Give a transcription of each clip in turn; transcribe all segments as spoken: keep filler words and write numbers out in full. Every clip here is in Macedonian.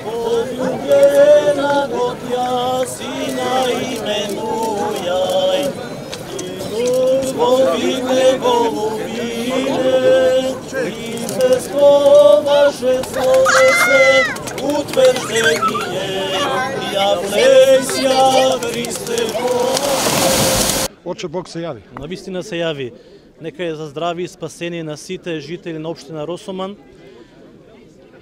Poljubljena god ja sina imenujaj, Bogine golubine, i bez vaše slove se utvrđenije, javlesja Hrisте Боже. Оче Бог се јави. Навистина се јави. Нека е за здрави и спасение на сите жители на општина Росоман.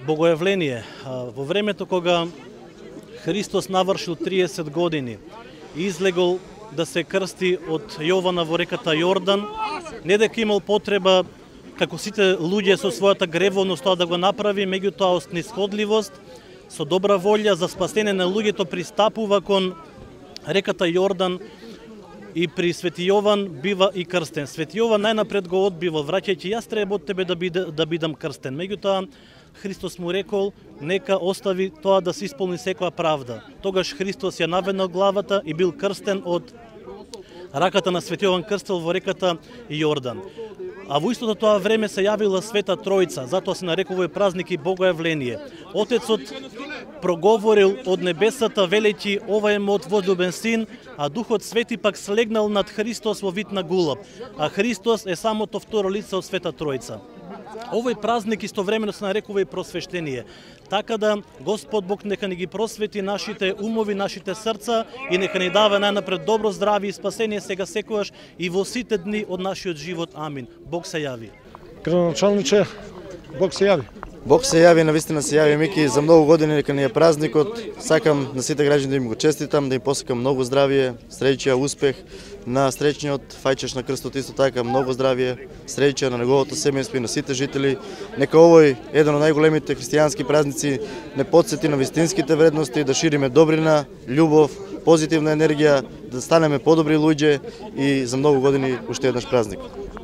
Богојавление. Во времето кога Христос навршил триесет години и излегол да се крсти од Јована во реката Јордан, не дека имал потреба, како сите луѓе со својата гревовност тоа да го направи, меѓутоа од снисходливост, со добра волја за спасение на луѓето пристапува кон реката Јордан и при Свети Јован бива и крстен. Свети Јован најнапред го одбива, враќајќи јас треба од тебе да, биде, да бидам крстен. Меѓутоа, Христос му рекол, нека остави тоа да се исполни секоја правда. Тогаш Христос ја наведнал главата и бил крстен од раката на Свети Јован крстел во реката Јордан. А во истото тоа време се јавила Света Тројца, затоа се нарекува и празник и Богојавление. Отецот проговорил од небесата, велејќи ова е мојот возлюбен син, а Духот Свети пак слегнал над Христос во вид на гулаб, а Христос е самото второ лице од Света Тројца. Овој празник истовремено се нарекува и просвештение. Така да Господ Бог нека ни ги просвети нашите умови, нашите срца и нека ни дава најнапред добро здравје и спасение сега секогаш и во сите дни од нашиот живот. Амин. Бог се јави. Градоначалниче, Бог се јави. Бог се јави, навистина се јави, Мики, за многу години нека ни е празникот. Сакам на сите граѓани да им го честитам, да им посакам многу здравје, среќа, успех. На среќниот фајчеш на крстот исто така многу здравје, среќа на неговото семејство и на сите жители. Нека овој еден од најголемите христијански празници не потсети на вистинските вредности, да шириме добрина, љубов, позитивна енергија, да станеме подобри луѓе и за многу години уште еднаш празник.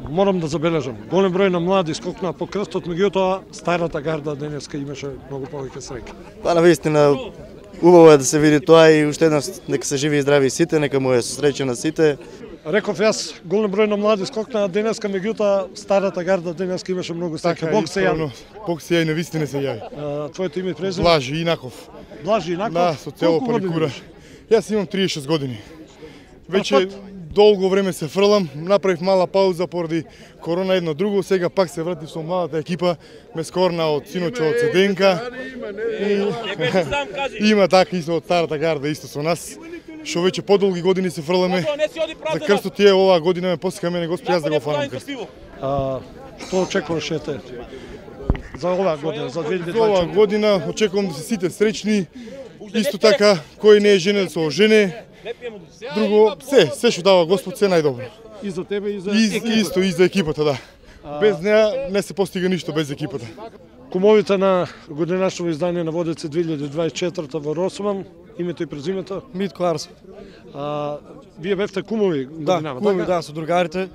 Морам да забележам, голем број на млади скокнаа по крстот, меѓутоа старата гарда денеска имаше многу повеќе среќа. Па навистина убаво е да се види тоа и уште еднаш нека се живи и здрави сите, нека му е со среќа на сите. Реков јас, голем број на млади скокнаа денеска, меѓутоа старата гарда денеска имаше многу среќа. Бог се јави. Бог се јави, навистина се јави. Твоето име и презиме? Блажи Инаков. Блажи Инаков? Да, со цело паникура. Јас имам триесет и шест години. Веќе долго време се фрлам, направив мала пауза поради корона едно друго, сега пак се вратив со младата екипа, ме скорна од синоче од Седенка. И има така исто од старата гарда исто со нас, што веќе подолги години се фрламе. За крстот тие оваа година ме посека мене Господ, јас да го фанам крст. А што очекуваш ете за оваа година, за две илјади и дваесет? За оваа година очекувам да се сите среќни, исто така кој не е женен со жене. Друго, се, се што дава Господ, се најдобро. И за тебе, и за и, екипата. Исто, и за екипата, да. А... Без неа не се постига ништо без екипата. Кумовите на годинашното издание на Водице две илјади дваесет и четврта во Росоман, името и презимето? Митко Арсов. А, вие бевте кумови годинава, да, кумови, така? Да, со другарите.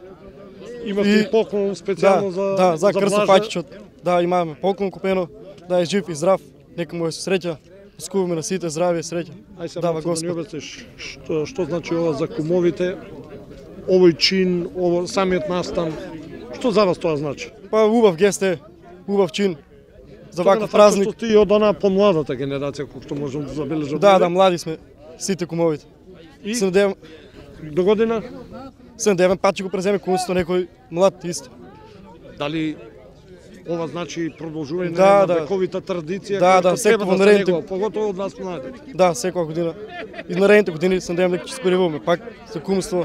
Имате и поклон специјално да, за да, за, за крстопаќичот. Да, имаме поклон купено, да е жив и здрав, нека му е со среќа. Скуваме на сите здравје, среќа. Ај се да ни обясниш што, што значи ова за кумовите, овој чин, ово самиот настан, што за вас тоа значи? Па убав гест е, убав чин за Тоа ваков празник. Што ти од она помладата генерација, кој што можам да забележам. Да, да, млади сме, сите кумовите. И Седем... до година? Седем пат ќе го преземе кумството некој млад исто. Дали ова значи продолжување да, на да. вековите традиција, да, да, треба да се наредните... негува, поготово од нас млади. Да, секоја година. И наредните години се надевам дека ќе се појавуваме пак за кумство,